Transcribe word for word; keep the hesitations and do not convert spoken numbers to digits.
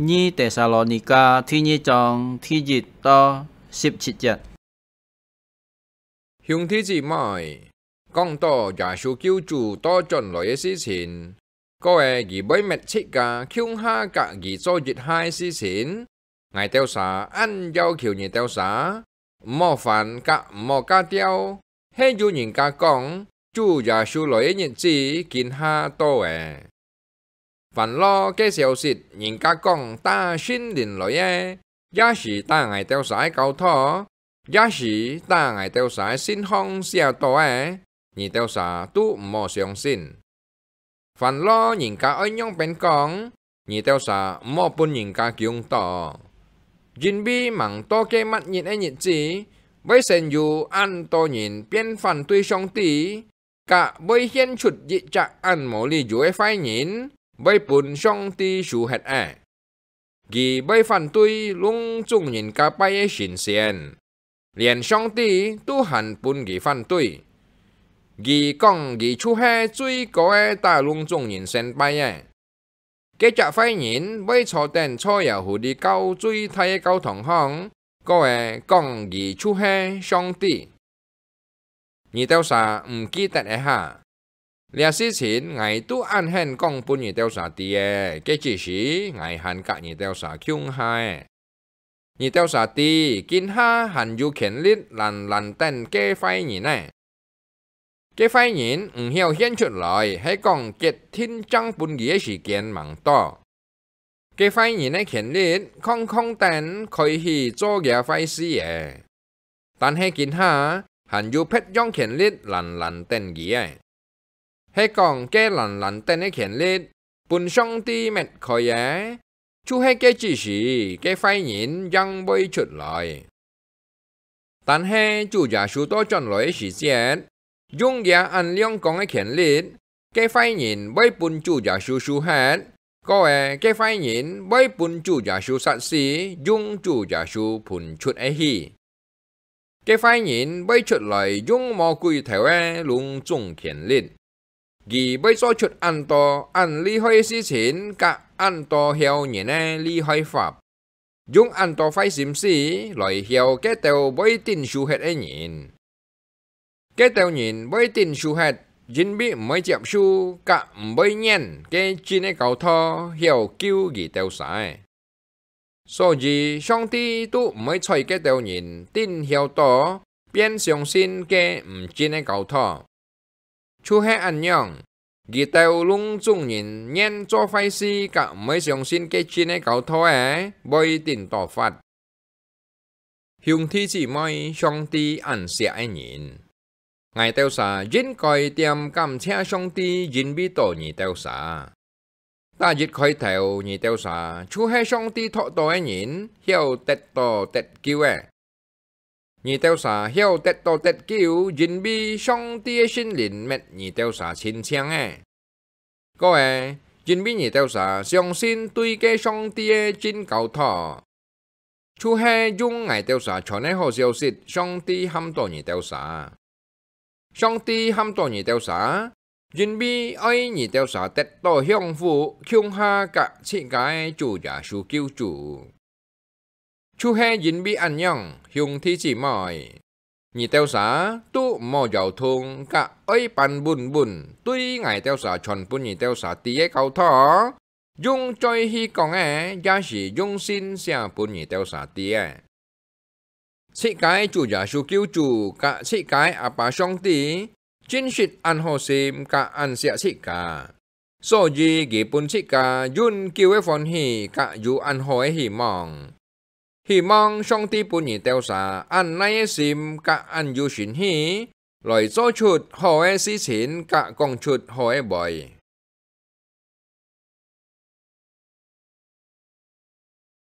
二帖撒羅尼迦第二章第一到十七節。兄弟姊妹，講到耶穌救主倒轉來个事情，過後佢會搣自家共下佮佢做一下个事情，𠊎兜儕恁要求你兜儕，毋好煩佮毋好遽調，係有人家講，主耶穌來个日子今下到了。 煩惱个消息，人家講打聖靈來个，也係打𠊎兜儕个交託，也係打𠊎兜儕个信項寫到个，你兜儕都毋好相信。煩惱人家愛仰般講，你兜儕毋好分人家驚到。因為吂到該末日个日子，會先有恁多人變反對上帝， 佮會獻出一隻恁無理由个壞人，會分上帝收忒了。佢會反對攏總人家拜个神仙，連上帝都還分佢反對。佢講佢就係最高个打攏總人先拜个。 該隻壞人會坐等坐耶穌裡教最大个教堂項，過後講佢就係上帝。你兜儕毋記得了哈？這事情𠊎都恁肯講分你兜儕知了，該之時𠊎還佮你兜儕共下了。 你兜儕知，今下還有權力懶懶等該壞人呢。該壞人毋曉現出來，係講決定正分佢个時間吂到。該壞人个權力，空空等開始做厥壞事了。但係今下，還有別樣權力懶懶等佢个。 係講該懶懶等个權力，分上帝搣開了，就係該之時，該壞人正會出來。但係主耶穌倒轉來个時節，用厥恁亮光个權力，該壞人會分主耶穌收忒，過後該壞人會分主耶穌殺死，用主耶穌噴出个氣。 該壞人會出來用無鬼頭个攏總權力，佢會做出恁多恁厲害个事情，佮恁多嬈人个厲害法，用恁多壞心思來嬈該兜會頂受忒个人。該兜人會頂受忒，因為毋會接受，佮毋會認該真个教導，曉救佢兜儕。 所以，上帝都毋會睬該兜人頂嬈到，變相信該毋真个教導。就係恁樣，佢兜攏總人願做壞事，佮毋會相信該真个教導个，會頂到罰。兄弟姊妹，上帝恁惜个人，𠊎兜儕應該恬感謝上帝，因為到你兜儕。 逐一開頭，你兜儕就係上帝擇到个人，曉得到得救个。你兜儕曉得到得救，因為上帝个聖靈搣你兜儕親像个。過後，因為你兜儕相信對該上帝个真教導， 就係用𠊎兜儕傳个好消息，上帝喊到你兜儕。上帝喊到你兜儕，因為愛你兜儕得到享福，共下佮自家个主耶穌救主。就係因為恁樣，兄弟姊妹， 你兜儕都毋好搖動，佮愛扳穩穩，對𠊎兜儕傳分你兜儕知个教導，用嘴去講个，也係用信寫分你兜儕知个。自家个主耶穌救主，佮自家个阿爸上帝，真實恁好心，佮恁惜自家。 所以佢分自家永久个歡喜，佮有恁好个希望。希望上帝分你兜儕恁耐个心，佮恁有誠意，來做出好个事情，佮講出好个話。